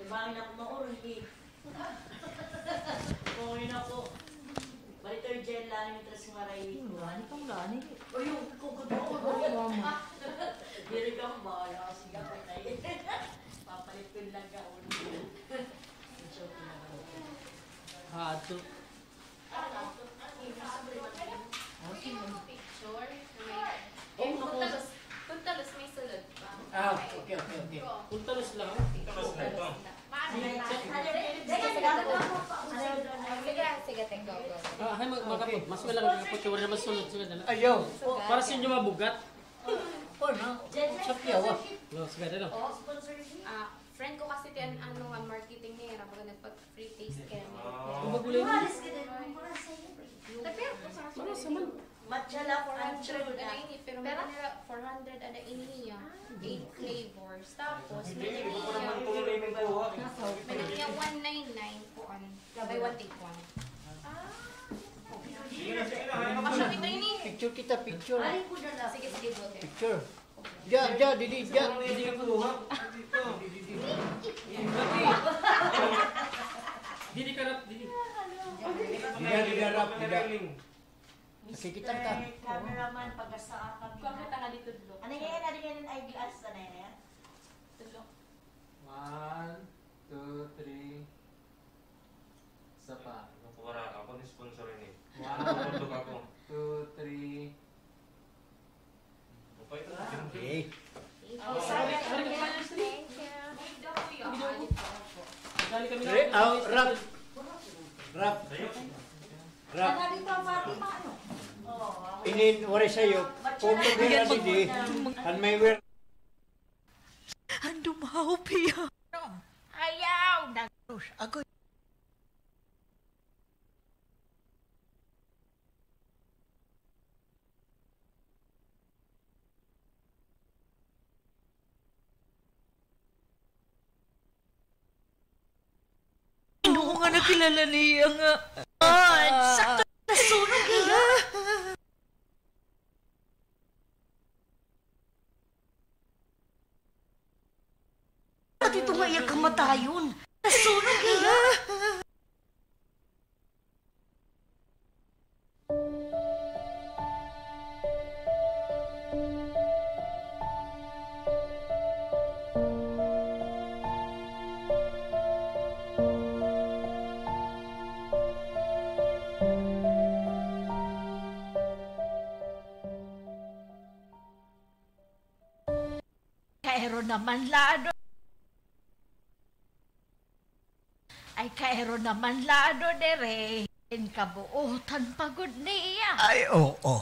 Bangin ako maurhi. Bangin ako. Balitoy gel lang, matras nga ray. Hmm, gani kang gani. Uy, yung kugod na ulo. Diri kang bala, sige ako tayo. Papalit ko lang ka ulo. Ah, ato. Picture. Kung talos, kung talos may sulod pa. Ah, okay, okay, okay. Kung talos lang. Kung talos lang ito. Sige, sige, take, go, go, go. Ah, hay, mag-, magkapot. Mas wala lang kapot, wala na masulod, sulod na lang. Ayaw. Para sa inyo mabugat. Kuan na, sa piyawa. No, sige, dalo. Ah, friend ko kasi ti an, ano, an marketing niya, baga nagpa-free taste kami. Ah. Kung magulay mo. Umalis ka din, mga sa'yo. Matcha lang, four hundred, ano ini, pero may nila four hundred, ano ini niya, eight flavors. Tapos, may nila, may nila one nine nine po, ano, buy one, take one. Ah. Picture kita, picture. Sige, sige, go there. Picture. Diya, diya, didi, diya. Didi ka rap, didi. Diya, diya, rap, diya. Nakikita ka. Cameraman, pag-asa kami. Kuha kita nga dito, Dlo. Ano yan? Ano yan? Ay, glass na yan. Dlo. One, two, three. Isa pa. Ako, wala. Ako ni sponsor ini. One, two, three. Okay. Thank you. Dali kami na. Rap. Rap. Rap. Inin, waray sayo. Kung pagkira didi, an may wer- An dumaop hiya. Ayaw na. Agoy. Ano nga nakilala niya nga? Ah, sakto, nasunog hiya. Pati ito nga iya kamatayon. Nasunog hiya. Kairo naman lado. Ay, kairo naman lado diri. Inkabuotan pa gud niya. Ay, oo.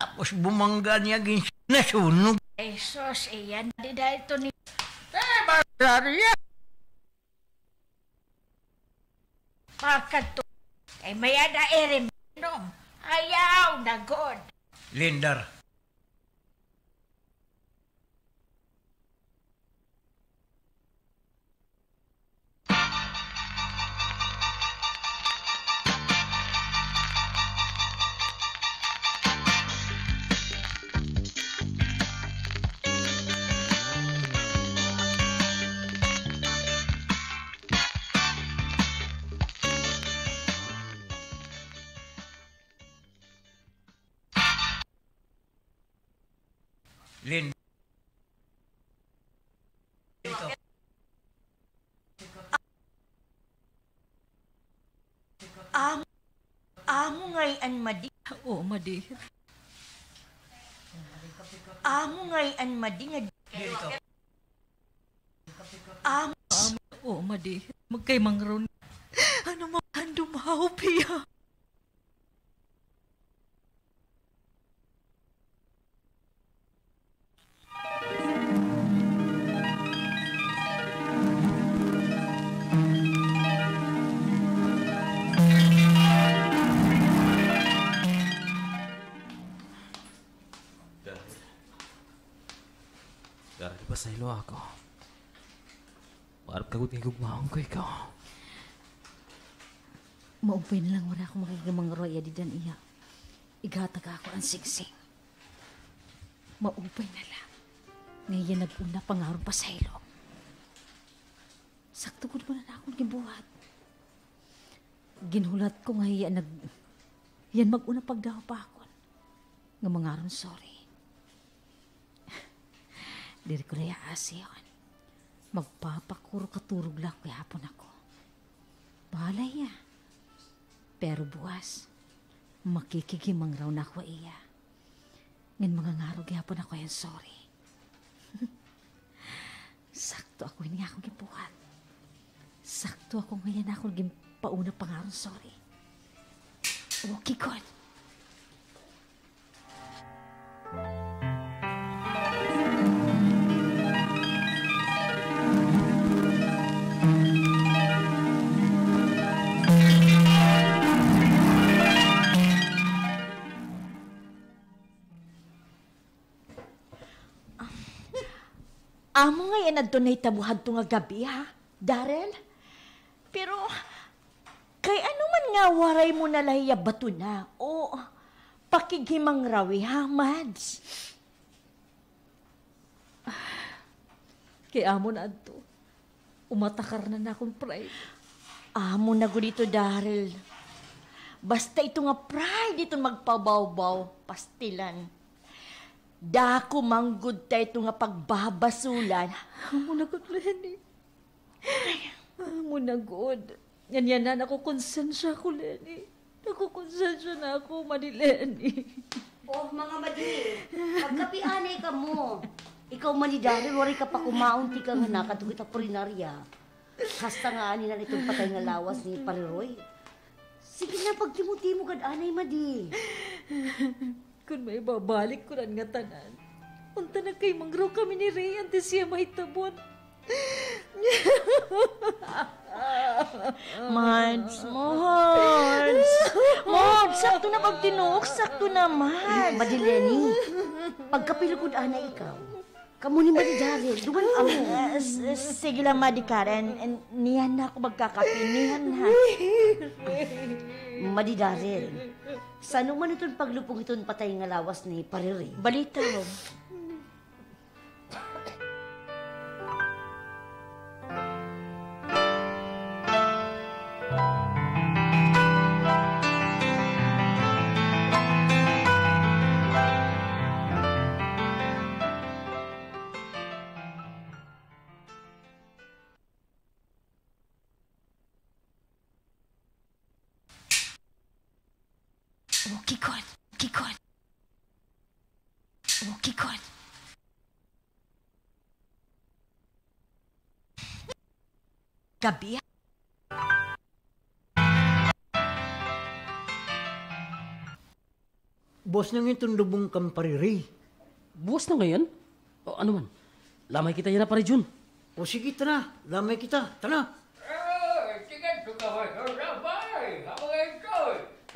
Tapos bumangga niya gin nasunog. Ay, sus, iyan di dahil to ni. Eh, Maria! Pakadto. Kay may-ada iri minom. Ayaw na gud. Lindar. Lin. Amo, amo ngay-an madi. Oo, madi. Amo ngay-an madi nga. Amo. Amo, oo, madi. Magkay mangron. Ano mo, handum hawp hiya. Dara, ipasaylo ako. Maarap ka gud nga gugmaon ko ikaw. Maupay na lang, waray ako makikimangruya dida niya. Ighatag ako an singsing. Maupay na lang. Nga iya nag-una pa nga aron pasaylo. Sakto gud man an akon ginbuhat. Ginhulat ko nga hiya nag-, hiya an mag-una pagdahop ha akon nga mangaron sorry. Diri ko na hiya aasihon. Magpapakuro-katurog la ako gihapon ako. Bahala hiya. Pero buwas, makikighimangraw na ako ha iya. Ngan mangangaro gihapon ako hin sorry. Sakto ako ini nga akon ginbuhat. Sakto ako nga hiya an akon ginpauna pangaron sorry. Okay gud. Amo ngay-an adto nahitabo hadto nga gab-i, ha, Daryl? Pero, kay ano man nga waray mo na la hiya batuna o pakighimangrawi, ha, Mads? Kay amo na adto. Umatakar na an akon pride. Amo na gud ito, Daryl. Basta ito nga pride, ito magpabawbaw, pastilan. Dako man gud ta ito nga pagbabasulan. Amo na gud, Leni. Amo na gud. Ngan yana, nakukonsensya ako, Leni. Nakukonsensya na ako, Madi Leni. Oh, mga Madi, magkape anay kamo. Ikaw, Madi Daryl, waray ka pa kumaon, tikang nakadto kita purinarya. Hasta nga anay na la iton patay nga lawas ni Pare Roy. Sige na, pagtimo-timo gad anay, Madi. Kon maibabalik ko an ngatanan, unta nagkahimangraw kami ni Ray antes hiya mahitabo. Mads, Mads. Mads, sakto na pagtinuok, sakto na, Mads. Madi Leni, pagkape la gud anay ikaw. Kamo ni Madi Daryl, duman kamo. Ah, s-, s-, sige la, Madi Karen. Niyan na ako magkakape. Niyan na. Madi Daryl, san-o man iton paglupong iton patay nga lawas ni Pare Ray? Balitaw. Okay gud. Okay gud. Okay gud. Gab-i. Buwas na ngay-an iton lubong kan Pare Ray. Buwas na ngay-an? O, ano man? Lamay kita yana, Pare Jun. O, sige, tana. Lamay kita. Tana. Eh, sige, tugawan ko, lamay. Habang ito.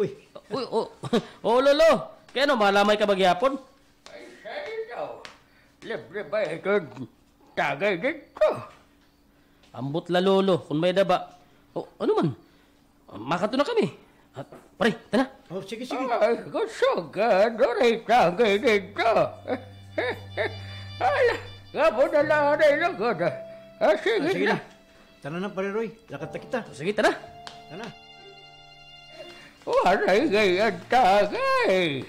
Uy. Uy, o, o, Lolo. Kay ano, malamay ka ba gihapon? Ay, sa ito. Libre ba ito? Tagay dito. Ambot la, Lolo, kon may-ada ba. O, ano man? Makadto na kami. Ah, pare, tana. O, sige, sige. Ay, kusog ka, duray tagay dito. Hala, nga po na la anay lugod. Ah, sige na. Tana na, Pare Roy. Lakat na kita. O, sige, tana. Tana. Waray ngay-an tagay.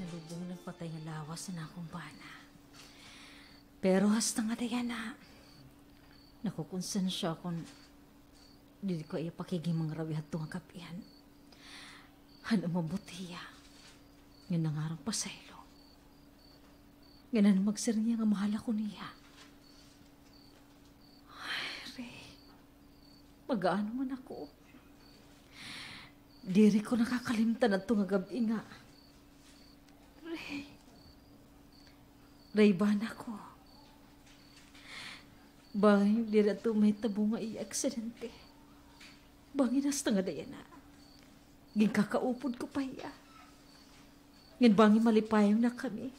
Nalubong na an patay nga lawas an akon bana. Pero hasta ngada yana, nakukonsensya ako kon diri ko iya pakighimangrawi hadto nga gab-i. Han umabot hiya, ngan nangaron pasaylo. Ngan han magsiring hiya nga mahal ako niya. Ay, Ray. Mag-aano man ako? Diri ko nakakalimtan adto nga gab-i nga, Ray, Ray, bana ko. Bangin diri adto mahitabo nga iya aksidente. Bangin hasta ngada yana. Ginkakaupod ko pa hiya. Ngan bangin malipayon na kami.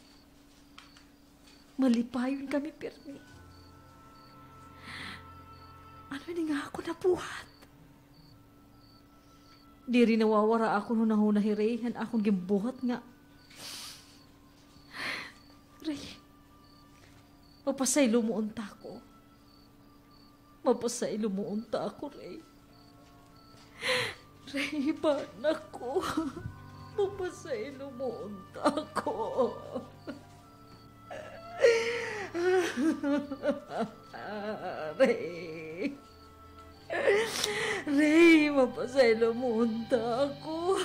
Malipayon kami pirmi. Ano ini nga akon nabuhat? Diri nawawara akon hunahuna hiri han akon ginbuhat nga. Ray, mapasaylo mo unta ako. Mapasaylo mo unta ako, Ray. Ray, bana ko. Mapasaylo mo unta ako. Ray. Ray, mapasaylo mo unta ako.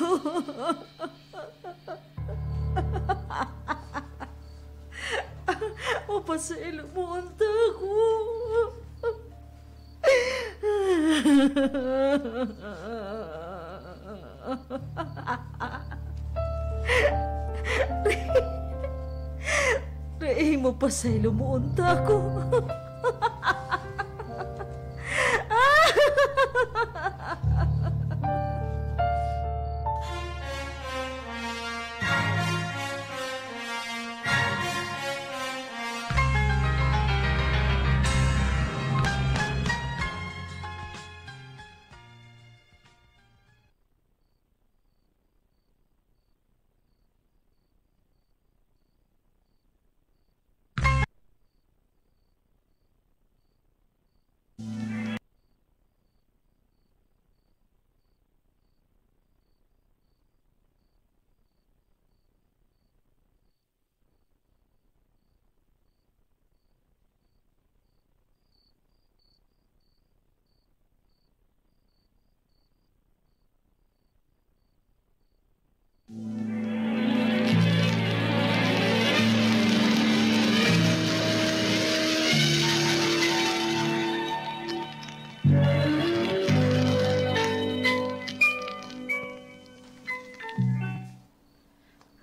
Mapasaylo mo unta ako. Ray, mapasaylo mo unta ako.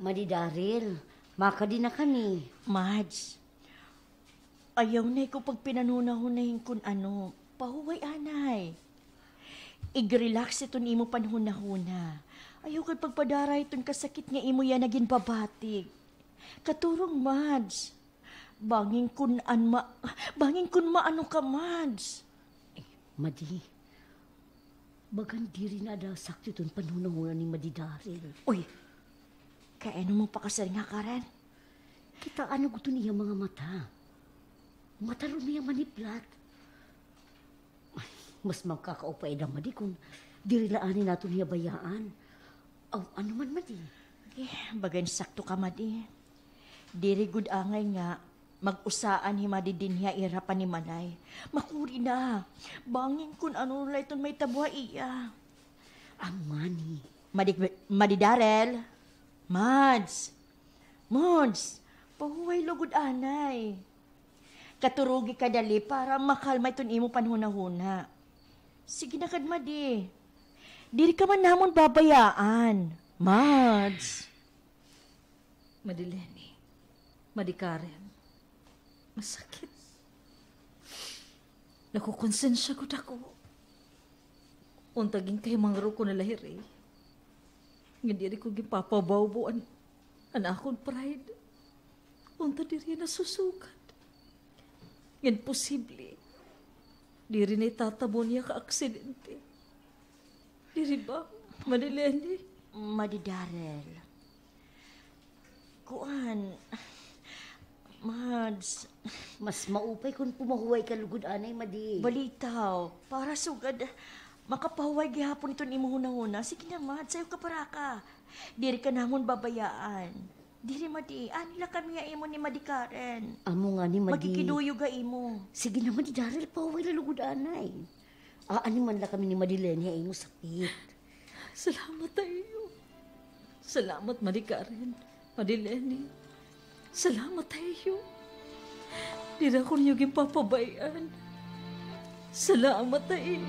Madi Daryl, makadi na kami. Mads, ayaw na ikaw pagpinanhunahuna hin kun ano. Pahuway anay. Ig-relax iton imo panhunahuna. Ayaw ka pagpadara hiton kasakit nga imo yana ginbabatig. Katurong, Mads. Bangin kun an ma-, bangin kun maano ka, Mads. Eh, Madi. Bagan diri na ada sakto iton panhunahuna ni Madi Daryl. Uy! Kay ano mo pakasiring ha Karen? Kitaa na gud iton iya mga mata. Mataron niya maniplat. Ay, mas makakaupay da, Madi, kun diri la anay naton hiya bayaan. Aw, ano man, Madi? Eh, bagan sakto ka, Madi. Diri gud angay nga mag-usaan hi Madi dinhi ha ira panimalay. Makuri na. Bangin kun ano la iton mahitabo ha iya. Amani. Madi, Madi Daryl. Mads. Mads, pahuway lugod anay. Katurogi ka dali para makalma iton imo panhunahuna. Sige na kad, Madi. Diri ka man namon babayaan. Mads. Madi Leni, Madi Karen, masakit. Nakukonsensya gud ako. Unta ginkahimangro ko na la hiri nga diri ko ginpapabawbaw an, an akon pride. Unta diri nasusugad. Ngan posible, diri na itatabo niya ka aksidente. Diri ba, Madi Leni? Madi Daryl. Kuan, Mads. Mas maupay kun pumahuway ka lugod anay, Madi. Balitaw, para sugad makapahuway gihapon iton imo hunahuna. Sige na, Mads, ayaw ka baraka. Diri ka namon babayaan. Diri, Madi, ani la kami ha imo ni Madi Karen. Amo ngani, Madi. Magkikiduyog ha imo. Sige na, Madi Daryl, pahuway la lugod anay. Aani man la kami ni Madi Leni ha imo sakit. Salamat ha iyo. Salamat, Madi Karen, Madi Leni. Salamat ha iyo. Diri ako niyo ginpapabay-an. Salamat ha iyo.